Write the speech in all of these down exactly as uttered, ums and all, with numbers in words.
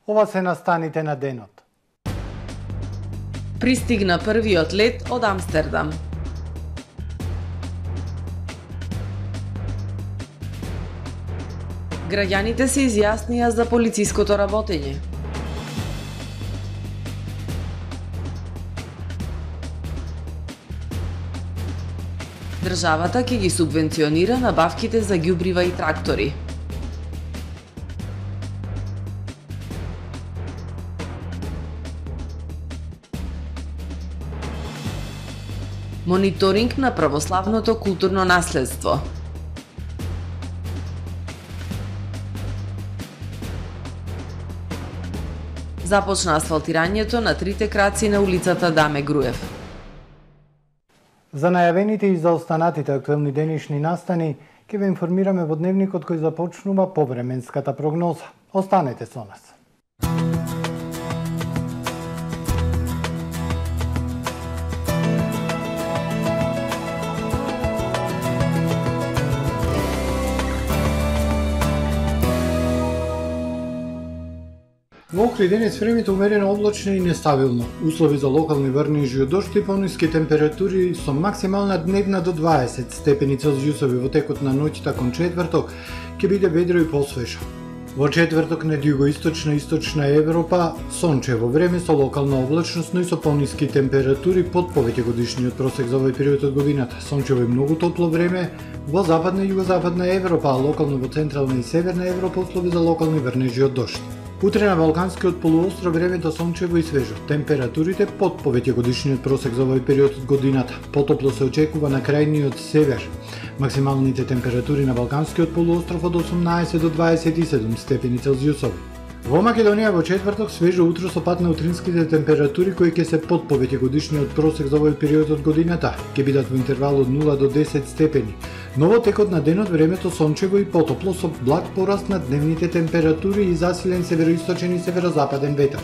Ова се настаните на денот. Пристигна првиот лет од Амстердам. Граѓаните се изјаснија за полициското работење. Државата ќе ги субвенционира набавките за ѓубрива и трактори. Мониторинг на православното културно наследство. Започна асфалтирањето на трите краци на улицата Даме Груев. За најавените и за останатите актуелни денешни настани ќе ве информираме во дневникот кој започнува повременската прогноза. Останете со нас. Во Охрид денес времето умерено облачно и нестабилно. Услови за локални врнежи од дожд и пониски температури со максимална дневна до дваесет степени Целзиусови во текот на ноќта кон четврток ќе биде ведро и посвежо. Во четврток на југоисточна и источна Европа сончево време со локална облачност, но и со пониски температури под повеќегодишниот просек за овој период од годината. Сончево и многу топло време во западна и југозападна Европа, а локално во централна и северна Европа услови за локални врнежи од дожд. Утре на Балканскиот полуостров времето сончево и свежо. Температурите под повеќегодишниот просек за овој период од годината. Потопло се очекува на крајниот север. Максималните температури на Балканскиот полуостров од осумнаесет до дваесет и седум степени Целзиусови. Во Македонија во четврток свежо утро со пад на утринските температури кои ќе се под повеќегодишниот просек за овој период од годината. Ќе бидат во интервал од нула до десет степени. Но во текот на денот времето сончево и потопло со благ пораст на дневните температури и засилен североисточен и северозападен ветар.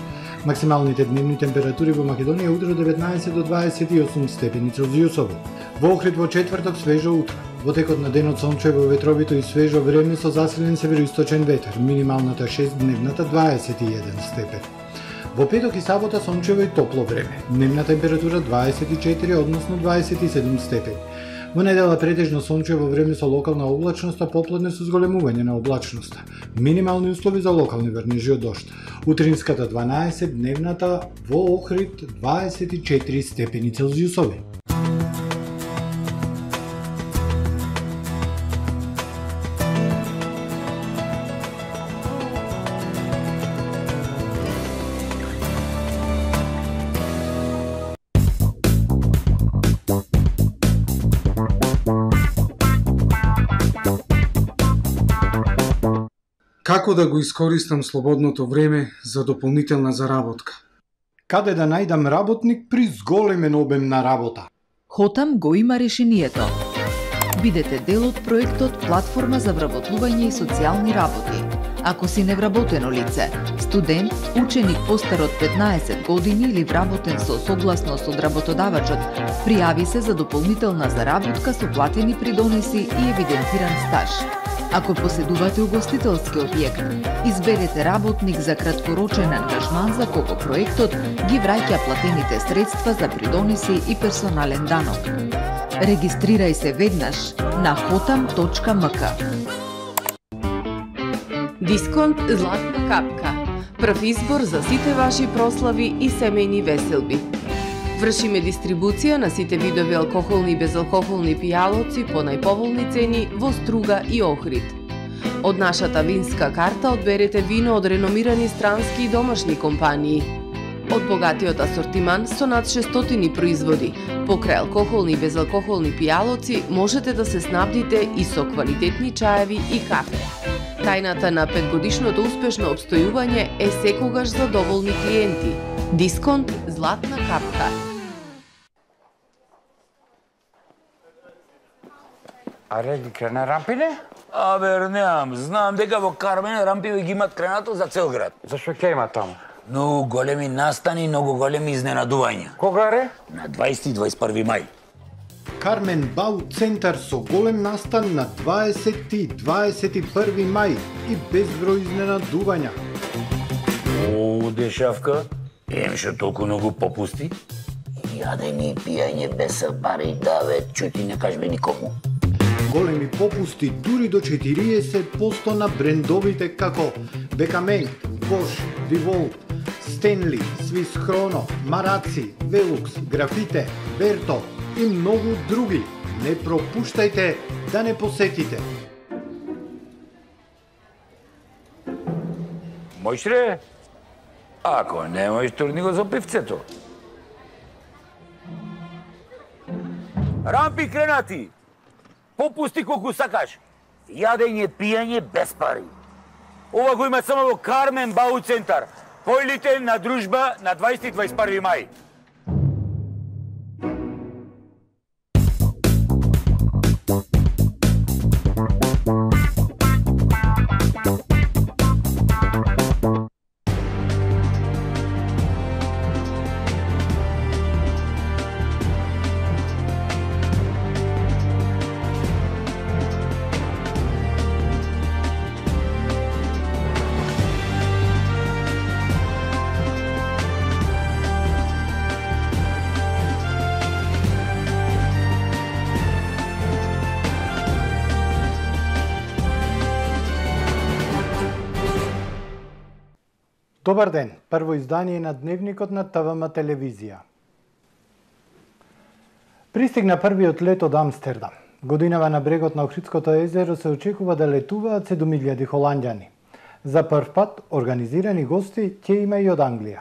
Максималните дневни температури во Македонија утре од деветнаесет до дваесет и осум степени Целзиусови. Во Охрид во четврток свежо утро. Во текот на денот сончево, ветровито и свежо време со засилен североисточен ветар. Минималната шест, дневната дваесет и еден степен. Во петок и сабота сончево и топло време. Дневна температура дваесет и четири, односно дваесет и седум степени. Во недела претежно сончево време со локална облачност, а попладне со зголемување на облачноста. Минимални услови за локални врнежи од дожд. Утринската дванаесет, дневната во Охрид дваесет и четири степени Целзиусови. Како да го искористам слободното време за дополнителна заработка? Каде да најдам работник при зголемен обем на работа? Хотам го има решението. Бидете дел од проектот Платформа за вработување и социјални работи. Ако си невработено лице, студент, ученик постар од петнаесет години или вработен со согласност од работодавачот, пријави се за дополнителна заработка со платени придонеси и евидентиран стаж. Ако поседувате угостителски објект, изберете работник за краткорочен ангажман за кого проектот ги враќа платените средства за придонеси и персонален данок. Регистрирај се веднаш на хотам точка ем ка. Дисконт Златна капка. Прв избор за сите ваши прослави и семејни веселби. Вршиме дистрибуција на сите видови алкохолни и безалкохолни пијалоци по најповолни цени во Струга и Охрид. Од нашата винска карта одберете вино од реномирани странски и домашни компании. Од богатиот асортиман со над шестстотини производи, покрај алкохолни и безалкохолни пијалоци, можете да се снабдите и со квалитетни чаеви и кафе. Тајната на петгодишното успешно обстојување е секогаш задоволни клиенти. Дисконт Златна капка. Аре, ги крена рампине? А, вернеам, знам дека во Кармен рампиве ги имат кренато за цел град. Зашо ќе има таму? Многу големи настани, многу големи изненадувања. Кога ре? На дваесети и дваесет и први мај. Кармен Бау центар со голем настан на дваесети и дваесет и први мај и безброј изненадувања. О, дешавка, емше толку многу попусти. Јадење и пијање без пари, да ве, чути, не кажбе никому. Големи попусти дури до четириесет проценти на брендовите како Бекамейн, Bosch, DeWalt, Stanley, Swiss Chrono, Мараци, Velux, Графите, Берто и многу други. Не пропуштајте да не посетите. Мојш ре? Ако не можеш, турни го за пивцето. Рампи кренати! Попусти колку сакаш. Јадење, пијање без пари. Ова го има само во Кармен Бау центар. Појдите на дружба на дваесети и дваесет и први мај. Добар ден, прво издание на Дневникот на ТВМ телевизија. Пристигна првиот лет од Амстердам. Годинава на брегот на Охридското езеро се очекува да летуваат седум илјади холанѓани. За прв пат организирани гости ќе има и од Англија.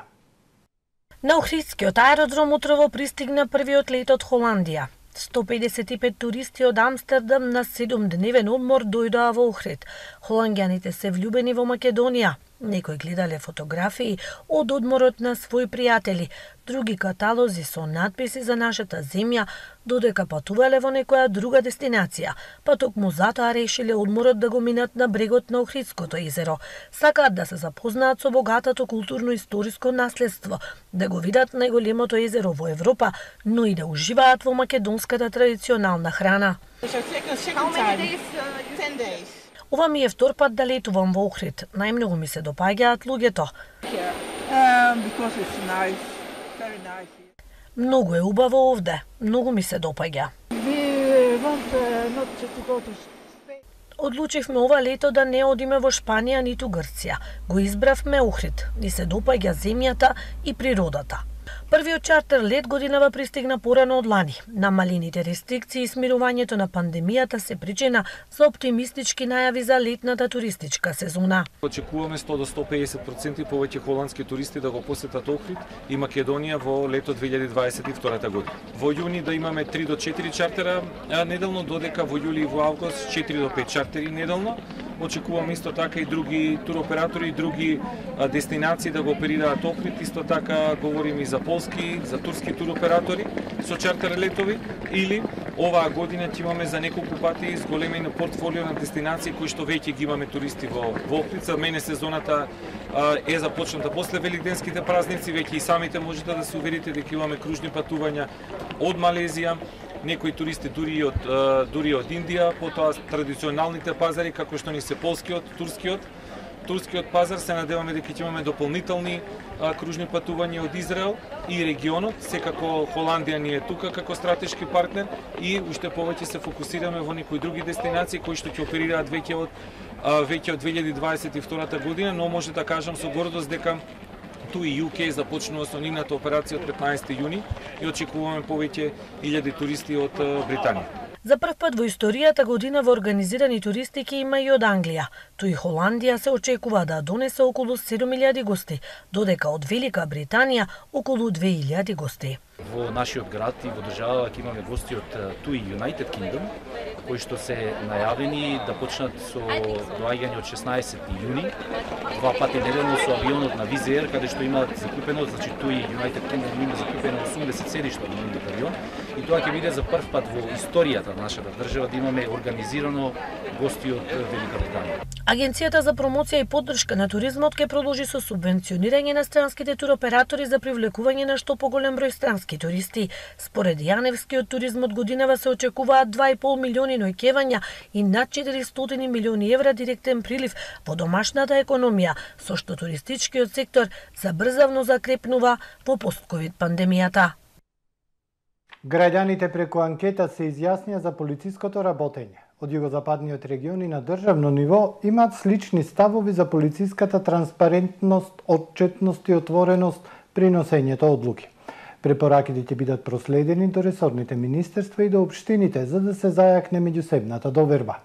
На Охридскиот аеродром утрово пристигна првиот лет од Холандија. сто педесет и пет туристи од Амстердам на седумдневен одмор дојдоа во Охрид. Холанѓаните се влюбени во Македонија. Некои гледале фотографии од одморот на своји пријатели, други каталози со надписи за нашата земја, додека патувале во некоја друга дестинација, па токму затоа решиле одморот да го минат на брегот на Охридското езеро. Сакаат да се запознаат со богатото културно-историско наследство, да го видат најголемото езеро во Европа, но и да уживаат во македонската традиционална храна. Ова ми е втор пат да летувам во Охрид. Најмногу ми се допаѓаат луѓето. Многу е убаво овде. Многу ми се допаѓа. Одлучивме ова лето да не одиме во Шпанија ниту Грција. Го избравме Охрид. Ни се допаѓа земјата и природата. Првиот чартер лет годинава пристигна порано од лани. Намалените рестрикции и смирувањето на пандемијата се причина за оптимистички најави за летната туристичка сезона. Очекуваме сто до сто педесет проценти повеќе холандски туристи да го посетат Охрид и Македонија во лето две илјади дваесет и втора година. Во јуни да имаме три до четири чартера неделно, додека во јули и во август четири до пет чартери неделно. Очекуваме исто така и други туроператори и други а, дестинации да го оперираат Охрид. Исто така говорим и за полски, за турски туроператори со чартер летови, или оваа година ќе имаме за неколку пати зголемено портфолио на дестинации кои што веќе ги имаме туристи во, во Охрид. За мене сезоната а, е започната после великденските празници, веќе и самите можете да се уверите дека имаме кружни патувања од Малезија, некои туристи дури од дури од Индија, потоа традиционалните пазари како што ни се полскиот, турскиот, турскиот пазар. Се надеваме дека ќе имаме дополнителни а, кружни патувања од Израел и регионот. Секако Холандија ни е тука како стратешки партнер и уште повеќе се фокусираме во некои други дестинации кои што ќе оперираат веќе од а, веќе од две илјади дваесет и втора година, но може да кажам со гордост дека ту и Ю Кеј започнува со нивната операција од петнаесети јуни и очекуваме повеќе илјади туристи од Британија. За прв пат во историјата година во организирани туристики има и од Англија. Тој Холандија се очекува да донесе околу седум илјади гости, додека од Велика Британија околу две илјади гости. Во нашиот град и во државата ќе имаме гости од Ту и United Kingdom, кои што се најавени да почнат со доаѓање од шеснаесети јуни, два пати неделно со авионот на Wizz Air, каде што имаат закупено, значи Ту и United Kingdom има закупено осумдесет седишта на нивниот авион, и тоа ќе биде за прв пат во историјата на нашата држава да имаме организирано гости од Велика Британија. Агенцијата за промоција и поддршка на туризмот ќе продолжи со субвенционирање на странските туроператори за привлекување на што поголем број странски туристи. Според Јаневски, од туризмот годинава се очекуваат два и пол милиони ноќевања и над четиристотини милиони евра директен прилив во домашната економија, со што туристичкиот сектор забрзавно закрепнува во постковид пандемијата. Граѓаните преку анкета се изјаснија за полициското работење. Од југозападниот регион и на државно ниво имаат слични ставови за полициската транспарентност, отчетност и отвореност при носењето одлуки. Препораките ќе бидат проследени до ресорните министерства и до општините за да се зајакне меѓусебната доверба.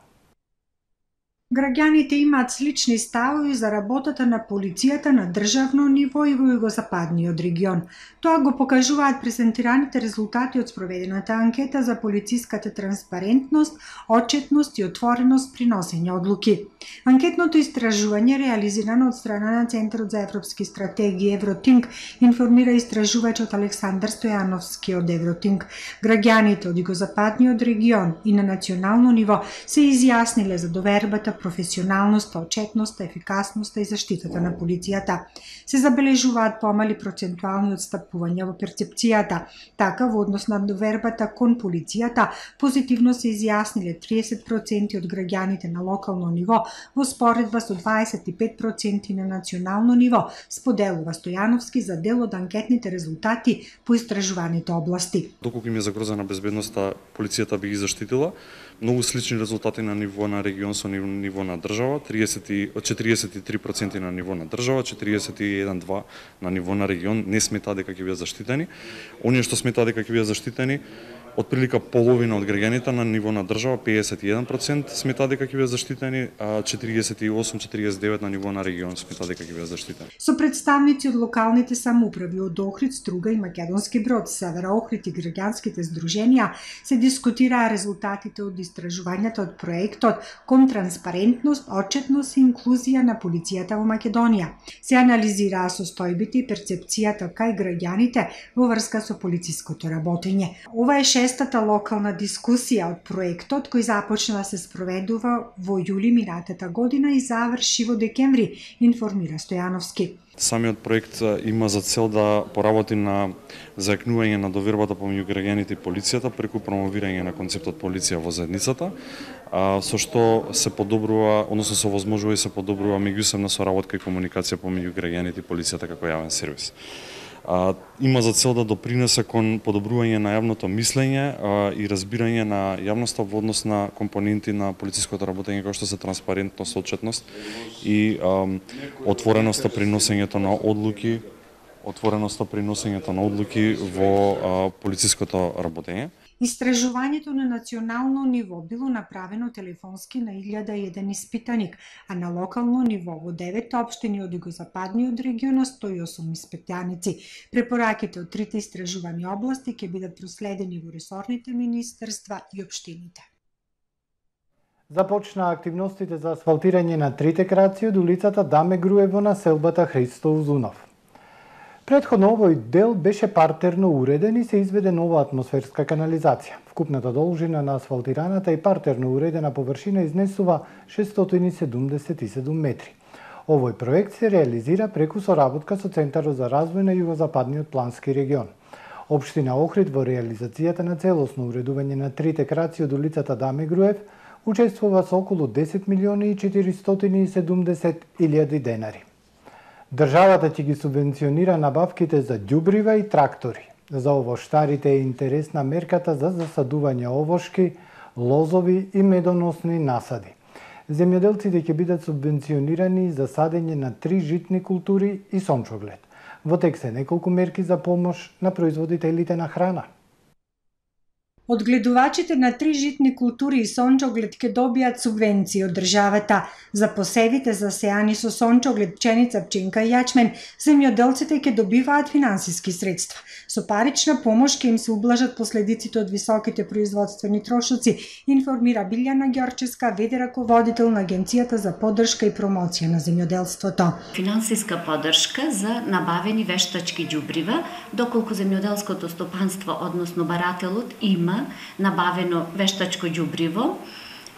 Граѓаните имаат слични ставови за работата на полицијата на државно ниво и во југозападниот регион. Тоа го покажуваат презентираните резултати од спроведената анкета за полициската транспарентност, отчетност и отвореност при носење одлуки. Анкетното истражување, реализирано од страна на Центарот за европски стратегии Евротинк, информира истражувачот Александар Стојановски од Евротинк. Граѓаните од југозападниот регион и на национално ниво се изјасниле за довербата, професионалноста, отчетноста, ефикасноста и заштитата на полицијата. Се забележуваат помали процентуални отстапувања во перцепцијата. Така, во однос на довербата кон полицијата, позитивно се изјасниле триесет проценти од граѓаните на локално ниво, во споредба со дваесет и пет проценти на национално ниво, споделува Стојановски за дел од анкетните резултати по истражуваните области. Доколку им е загрозена безбедноста, полицијата би ги заштитила. Многу слични резултати на ниво на регион со ниво на држава, четириесет и три проценти на ниво на држава, четириесет и еден два на ниво на регион не сметаа дека ќе бидат заштитени. Оние што сметаа дека ќе бидат заштитени, отприлика половина од граѓаните на ниво на држава, педесет и еден проценти сметаа дека ќе бидат заштитени, а четириесет и осум четириесет и девет на ниво на регион сметаа дека ќе бидат заштитени. Со представници од локалните самоуправи од Охрид, Струга и Македонски Брод, Севера Охрид и граѓанските здруженија се дискутираа резултатите од истражувањата од проектот кон транспарентност, отчетност и инклузија на полицијата во Македонија. Се анализираа состојбите и перцепцијата кај граѓаните во врска со полициското работење. Ова е шестата локална дискусија од проектот кој започна да се спроведува во јули минатата година и заврши во декември, информира Стојановски. Самиот проект има за цел да поработи на зајакнување на довербата помеѓу граѓаните и полицијата преку промовирање на концептот полиција во заедницата, со што се подобрува, односно се овозможува и се подобрува меѓусебна соработка и комуникација помеѓу граѓаните и полицијата како јавен сервис. А, има за цел да допринесе кон подобрување на јавното мислење а, и разбирање на јавноста во однос на компоненти на полициското работење како што се транспарентност, отчетност и а, отвореноста при носењето на одлуки, отвореноста при носењето на одлуки во а, полициското работење. Истражувањето на национално ниво било направено телефонски на илјада и еден испитаник, а на локално ниво во девет општини од југозападниот регион сто и осум испитаници. Препораките од трите истражувани области ќе бидат проследени во ресорните министерства и општините. Започна активностите за асфалтирање на трите краци од улицата Даме Груево на селбата Христо Узунов. Предходно овој дел беше партерно уреден и се изведе нова атмосферска канализација. Вкупната должина на асфалтираната и партерно уредена површина изнесува шестстотини седумдесет и седум метри. Овој проект се реализира преку соработка со Центарот за развој на југозападниот плански регион. Општина Охрид во реализацијата на целосно уредување на трите краци од улицата Даме Груев учествува со околу десет милиони и четиристотини и седумдесет илјади денари. Државата ќе ги субвенционира набавките за ѓубрива и трактори. За овоштарите е интересна мерката за засадување овошки, лозови и медоносни насади. Земјоделците ќе бидат субвенционирани за садење на три житни култури и сончоглед. Во тек се неколку мерки за помош на производителите на храна. Одгледувачите на три житни култури и сончоглед ќе добијат субвенции од државата. За посевите засеани со сончоглед, пченица, пченка и јачмен, земјоделците ќе добиваат финансиски средства. Со парична помош ќе им се ублажат последиците од високите производствени трошоци, информира Билјана Ѓорческа, веде раководител на Агенцијата за поддршка и промоција на земјоделството. Финансиска поддршка за набавени вештачки ѓубрива, доколку земјоделското стопанство, односно барателот, има набавено вештачко ѓубриво,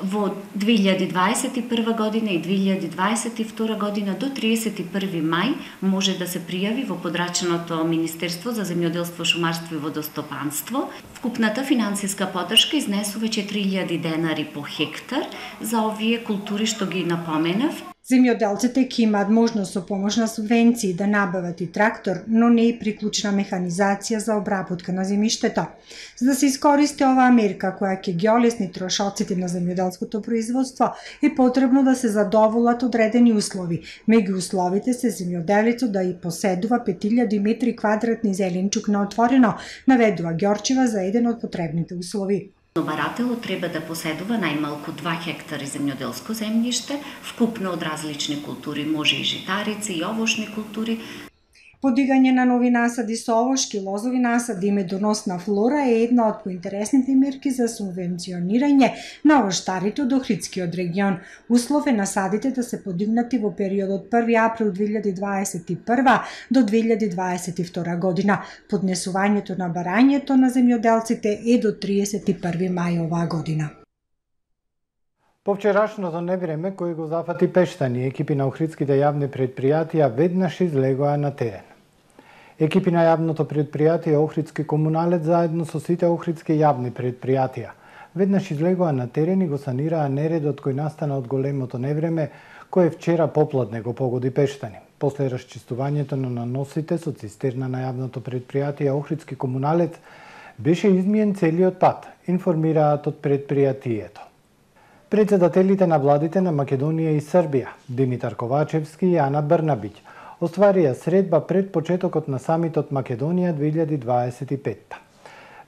Во две илјади дваесет и прва година и две илјади дваесет и втора година до триесет и први мај може да се пријави во подрачното Министерство за земјоделство, шумарство и водостопанство. Вкупната финансиска поддршка изнесува четири илјади денари по хектар за овие култури што ги напоменав. Земјоделците ќе имаат можност со помош на субвенции да набават и трактор, но не и приклучна механизација за обработка на земјиштето. За да се искористи оваа мерка која ќе ги олесни трошоците на земјоделското производство, е потребно да се задоволат одредени услови. Меѓу условите се земјоделецот да и поседува пет илјади метри квадратни зеленчук на отворено, наведува Ѓорчева за еден од потребните услови. Барателот треба да поседува најмалку два хектари земјоделско земјиште, вкупно од различни култури, може и житарици и овошни култури. Подигање на нови насади со овошки, лозови насади и медоносна флора е една од поинтересните мерки за субвенционирање на овоштарите од Охридскиот регион. Услов е насадите да се подигнати во периодот први април две илјади дваесет и прва до две илјади дваесет и втора година. Поднесувањето на барањето на земјоделците е до триесет и први мај оваа година. По вчерашното невреме кој го зафати Пештани, екипи на охридските јавни предпријатија веднаш излегоа на терен. Екипи на јавното предпријатие Охридски комуналец заедно со сите охридски јавни предпријатија веднаш излегоа на терен и го санираа нередот кој настана од големото невреме кој вчера попладне го погоди Пештани. После расчистувањето на наносите со цистерна на јавното предпријатие Охридски комуналец беше измиен целиот пат, информираат од предпријатието. Председателите на владите на Македонија и Србија, Димитар Ковачевски и Ана Брнабиќ, остварија средба пред почетокот на самитот Македонија две илјади дваесет и петта.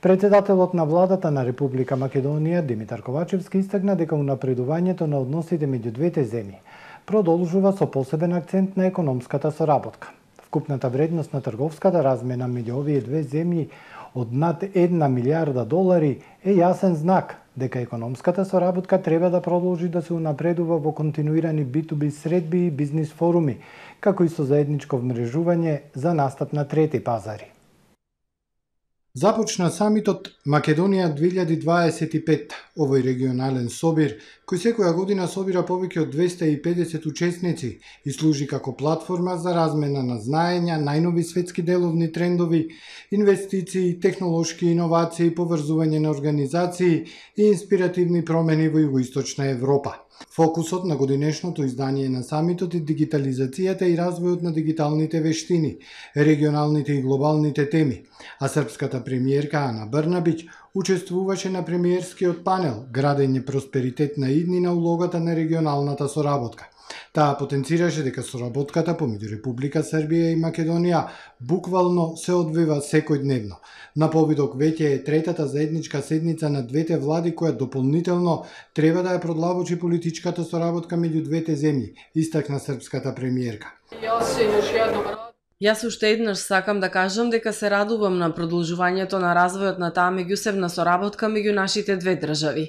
Председателот на владата на Република Македонија, Димитар Ковачевски, истакна дека унапредувањето на односите меѓу двете земји продолжува со посебен акцент на економската соработка. Вкупната вредност на трговската размена меѓу овие две земји од над една милијарда долари е јасен знак дека економската соработка треба да продолжи да се унапредува во континуирани би ту би средби и бизнис форуми, како и со заедничко вмрежување за настап на трети пазари. Започна самитот Македонија две илјади дваесет и петта. Овој регионален собир, кој секоја година собира повеќе од двеста и педесет учесници и служи како платформа за размена на знаења, најнови светски деловни трендови, инвестиции, технолошки иновации, поврзување на организации и инспиративни промени во Југоисточна Европа. Фокусот на годинешното издание на самитот е дигитализацијата и развојот на дигиталните вештини, регионалните и глобалните теми, а српската премиерка Ана Брнабиќ учествуваше на премиерскиот панел Градење просперитет на иднина, улогата на регионалната соработка. Таа потенцираше дека соработката помеѓу Република Србија и Македонија буквално се одвива секојдневно. На повидок веќе е третата заедничка седница на двете влади која дополнително треба да ја продлабочи политичката соработка меѓу двете земји, истакна српската премиерка. Јас уште еднаш сакам да кажам дека се радувам на продолжувањето на развојот на таа меѓусебна соработка меѓу нашите две држави.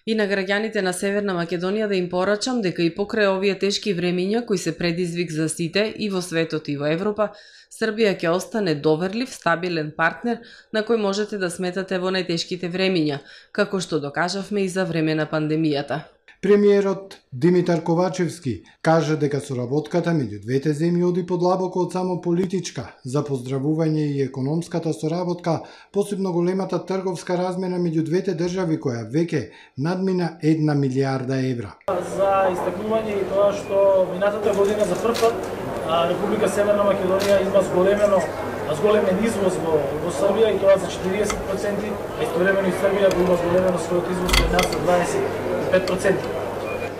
И на граѓаните на Северна Македонија да им порачам дека и покрај овие тешки времиња кои се предизвик за сите и во светот и во Европа, Србија ќе остане доверлив, стабилен партнер на кој можете да сметате во најтешките времиња, како што докажавме и за време на пандемијата. Премиерот Димитар Ковачевски кажа дека соработката меѓу двете земји оди подлабоко од само политичка, за поздравување и економската соработка, посебно големата трговска размена меѓу двете држави која веќе надмина една милијарда евра. За истакнување и тоа што минатата година за прв пат Република Северна Македонија има зголемено зголемен извоз во, во Србија и тоа за четириесет проценти, а истовремено и Србија го има зголемено својот извоз пред нас за дваесет и пет проценти.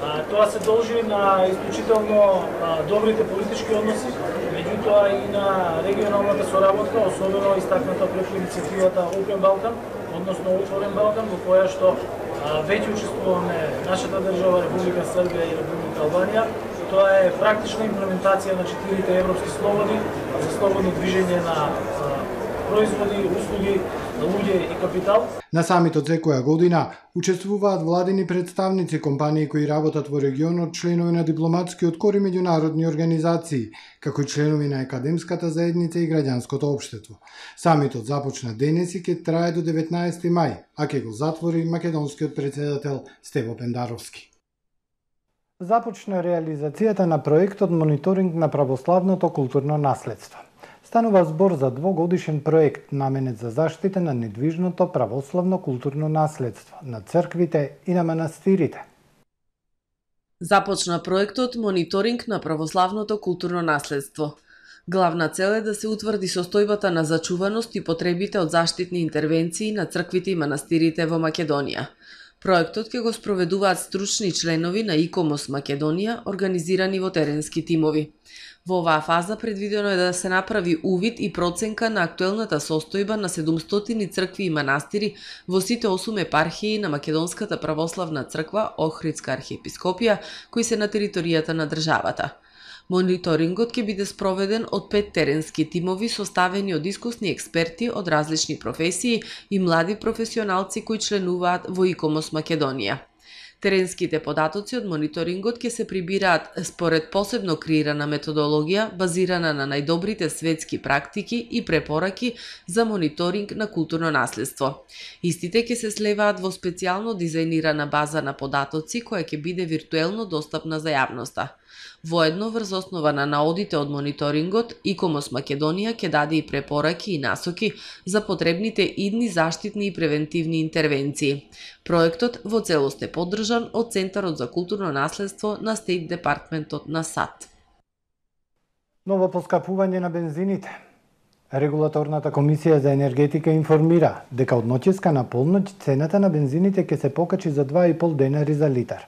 А, тоа се должи на исклучително а, добрите политички односи, меѓутоа и на регионалната соработка, особено истакната преку иницијативата Open Balkan, односно Отворен Балкан, во која што а, веќе учествуваме нашата држава, Република Србија и Република Албанија. Тоа е практична имплементација на четирите европски слободи за слободно движење на производи, услуги, луѓе и капитал. На самитот секоја година учествуваат владини представници, компании кои работат во регионот, членови на дипломатскиот кор и меѓународни организации, како и членови на академската заедница и граѓанското општество. Самитот започна денес и ќе трае до деветнаесети мај, а ќе го затвори македонскиот претседател Стево Пендаровски. Започна реализацијата на проектот Мониторинг на православното културно наследство. Станува збор за двогодишен проект наменет за заштита на недвижното православно културно наследство на црквите и на манастирите. Започна проектот Мониторинг на православното културно наследство. Главна цел е да се утврди состојбата на зачуваност и потребите од заштитни интервенции на црквите и манастирите во Македонија. Проектот ќе го спроведуваат стручни членови на ИКОМОС Македонија, организирани во теренски тимови. Во оваа фаза предвидено е да се направи увид и проценка на актуелната состојба на седумстотини цркви и манастири во сите осум епархии на Македонската православна црква, Охридска архиепископија, кои се на територијата на државата. Мониторингот ќе биде спроведен од пет теренски тимови составени од искусни експерти од различни професии и млади професионалци кои членуваат во ИКОМОС Македонија. Теренските податоци од мониторингот ќе се прибираат според посебно креирана методологија базирана на најдобрите светски практики и препораки за мониторинг на културно наследство. Истите ќе се слеваат во специјално дизајнирана база на податоци која ќе биде виртуелно достапна за јавноста. Воедно, врз основа на наодите од мониторингот, ИКОМОС Македонија ќе даде и препораки и насоки за потребните идни заштитни и превентивни интервенции. Проектот во целост е поддржан од Центарот за културно наследство на Стейт Департментот на САД. Ново поскапување на бензините. Регулаторната комисија за енергетика информира дека од ноќеска на полноќ цената на бензините ќе се покачи за два и пол денари за литар.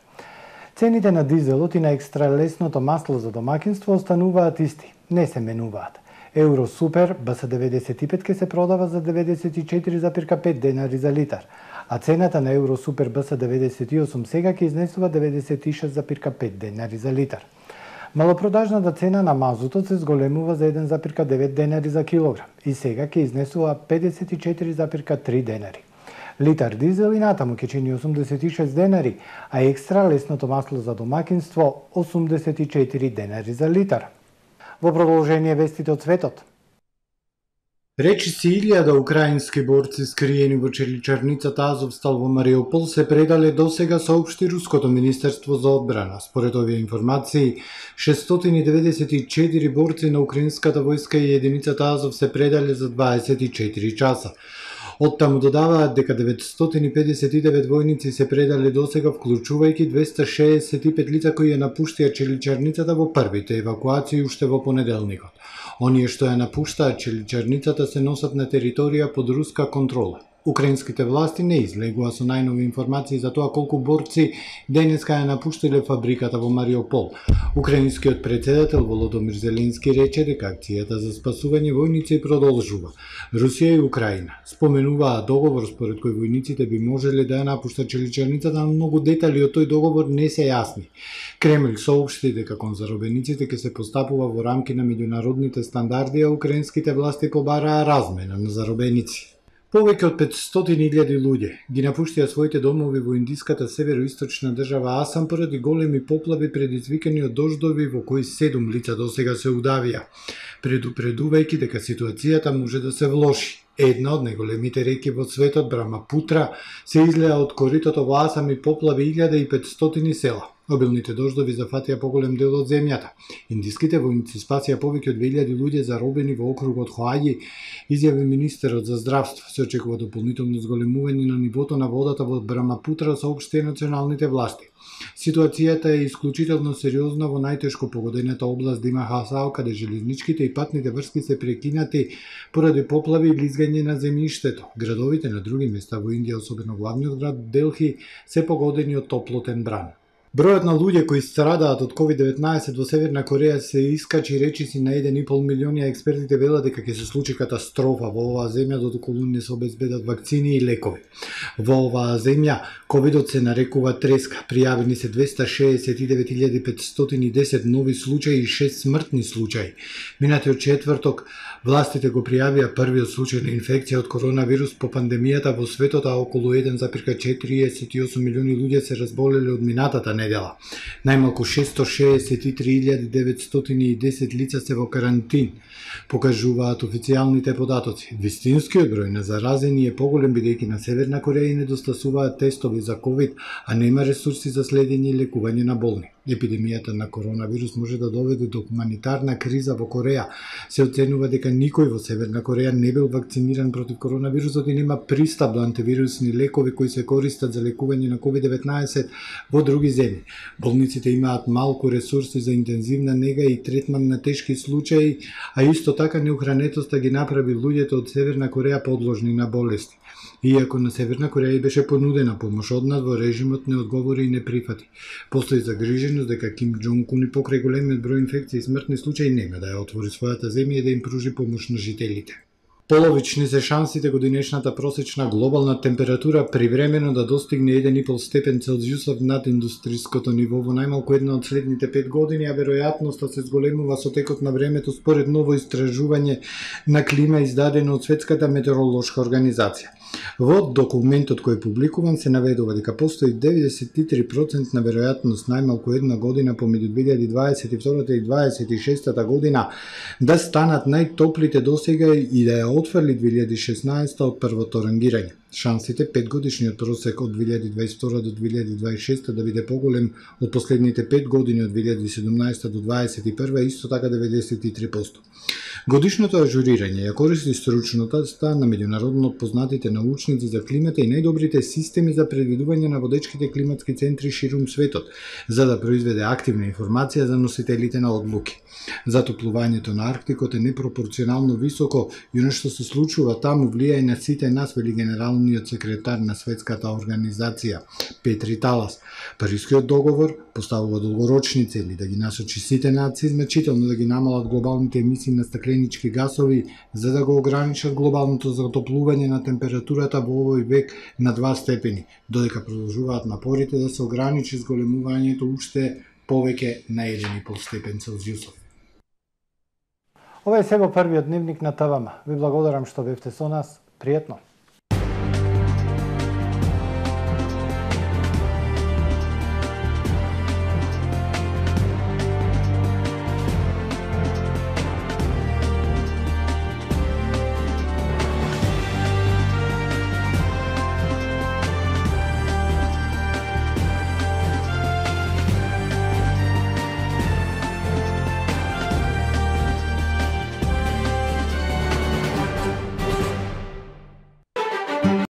Цените на дизелот и на екстралесното масло за домакинство остануваат исти, не се менуваат. Евро Супер Б С деветдесет и пет ќе се продава за деветдесет и четири зарем пет денари за литар, а цената на Евро Супер Б С деветдесет и осум сега ќе изнесува деветдесет и шест зарем пет денари за литар. Малопродажната цена на мазутот се зголемува за еден зарем девет денари за килограм и сега ќе изнесува педесет и четири зарем три денари. Литар дизел и натаму ќе чини осумдесет и шест денари, а екстра лесното масло за домакинство осумдесет и четири денари за литар. Во продолжение вестите од светот. Речиси илјада украински борци скриени во челичарницата Азовстал во Мариупол се предале досега, соопшти Руското министерство за одбрана. Според овие информации, шестстотини и деветдесет и четири борци на украинската војска и единицата Азов се предале за дваесет и четири часа. Оттаму додаваат дека деветстотини педесет и девет војници се предале досега, вклучувајќи двеста шеесет и пет лица кои ја напуштија челичарницата во првите евакуации уште во понеделникот. Оние што ја напуштаат челичарницата се носат на територија под руска контрола. Украинските власти не излегува со најнови информации за тоа колку борци денеска ја напуштиле фабриката во Мариупол. Украинскиот претседател Володомир Зеленски рече дека акцијата за спасување војници продолжува. Русија и Украина споменуваа договор според кој војниците би можеле да ја напуштат челичарницата, но многу детали од тој договор не се јасни. Кремљ соопшти дека кон заробениците ќе се постапува во рамки на меѓународните стандарди, а украинските власти побараа размена на заробеници. Повеќе од петстотини илјади луѓе ги напуштија своите домови во индиската североисточна држава Асам поради големи поплави предизвикани од дождови во кои седум лица досега се удавија, предупредувајќи дека ситуацијата може да се влоши. Една од најголемите реки во светот, Брамапутра, се излеа од коритото во Асам и поплави илјада и петстотини села. Обилните дождови зафатија поголем дел од земјата. Индиските војници спасија повеќе од две илјади луѓе заробени во округот Хоаји, изјави министерот за здравство. Се очекува дополнително зголемување на нивото на водата во Брамапутра, соопшти националните власти. Ситуацијата е исклучително сериозна во најтешко погодената област Дима Хасао, каде железничките и патните врски се прекинати поради поплави и лизгање на земјиштето. Градовите на други места во Индија, особено главниот град Делхи, се погодени од топлотен бран. Бројот на луѓе кои страдаат од ковид деветнаесет во Северна Кореја се искачи речиси на еден и пол милиони, а експертите велат дека ќе се случи катастрофа во оваа земја додоколу не се обезбедат вакцини и лекови. Во оваа земја ковидот се нарекува треска. Пријавени се двеста шеесет и девет илјади петстотини и десет нови случаи и шест смртни случаи. Минатиот четврток Властите го пријавија првиот случај на инфекција од коронавирус по пандемијата во светот, а околу еден зарез четириесет и осум милиони луѓе се разболеле од минатата недела. Најмалку шестстотини шеесет и три илјади деветстотини и десет лица се во карантин, покажуваат официјалните податоци. Вистинскиот број на заразени е поголем бидејќи на Северна Кореја недостасуваат тестови за ковид, а нема ресурси за следење и лекување на болни. Епидемијата на коронавирус може да доведе до хуманитарна криза во Кореја. Се оценува дека никој во Северна Кореја не бил вакциниран против коронавирусот и нема пристап до антивирусни лекови кои се користат за лекување на ковид деветнаесет во други земји. Болниците имаат малку ресурси за интензивна нега и третман на тешки случаи, а исто така неухранетоста ги направи луѓето од Северна Кореја подложни на болести. Иако на Северна Кореја беше понудена помош од надвор, режимот не одговори и не прифати. Постои загриженост дека Ким Џонг Ун и покрај големиот број инфекции и смртни случаи нема да ја отвори својата земја и да им пружи помош на жителите. Половични се шансите годинешната просечна глобална температура привремено да достигне еден и пол степен Целзиусов над индустриското ниво во најмалку една од следните пет години, а веројатноста се зголемува со текот на времето според ново истражување на клима издадено од Светската метеоролошка организација. Во документот кој е публикуван се наведува дека постои деветдесет и три проценти на веројатност најмалку една година помеѓу две илјади дваесет и втора и дваесет и шеста година да станат најтоплите досега и да ја отфрли две илјади и шеснаесета од првото рангирање. Шансите петгодишниот просек од две илјади дваесет и втора до две илјади дваесет и шеста да биде поголем од последните пет години од две илјади и седумнаесета до дваесет и прва исто така деветдесет и три проценти. Годишното ажурирање ја користи стручноста на меѓународно познатите научници за климата и најдобрите системи за предвидување на водечките климатски центри ширум светот, за да произведе активна информација за носителите на одлуки. Затоплувањето на Арктикот е непропорционално високо и она што се случува таму влијае на сите нас, вели генералниот секретар на Светската организација Петри Талас. Парискиот договор поставува долгорочни цели да ги насочи сите нации значително да ги намалат глобалните емисии на стакленички гасови за да го ограничат глобалното затоплување на температурата во овој век на два степени, додека продолжуваат напорите да се ограничи зголемувањето уште повеќе на еден и пол степен Целзиусов. Ова е се во првиот дневник на ТВМ. Ви благодарам што бевте со нас. Пријатно!